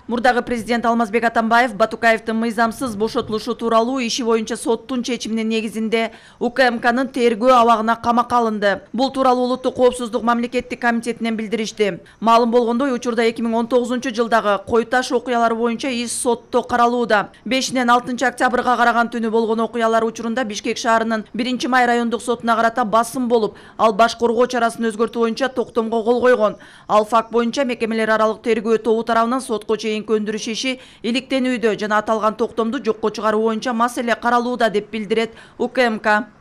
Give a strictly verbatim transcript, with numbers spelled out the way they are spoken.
Мурдагы президент Алмазбек Атамбаев Батукаевдин мыйзамсыз бошотулушу тууралуу иши боюнча соттун чечиминин негизинде УКМКнын тергөө абагына камакка алынды. Бул тууралуу Улуттук коопсуздук мамлекеттик комитетинен билдиришти. Маалым болгондой, учурда эки миң он тогузунчу жылдагы Кой Таш окуялары боюнча иш сотто каралууда. бешинен алтынчы октябрга караган түнү болгон окуялар учурунда Бишкек шаарынын биринчи май райондук сотуна карата басым болуп, ал баш коргоо чарасын өзгөртүү боюнча токтомго кол койгон. Ал факт боюнча мекемелер аралык тергөө тобу тарабынан сотко чейин көндүрүш иши иликтенүүдө жана аталган токтомду жокко чыгаруу боюнча маселе каралууда деп билдирет УКМК.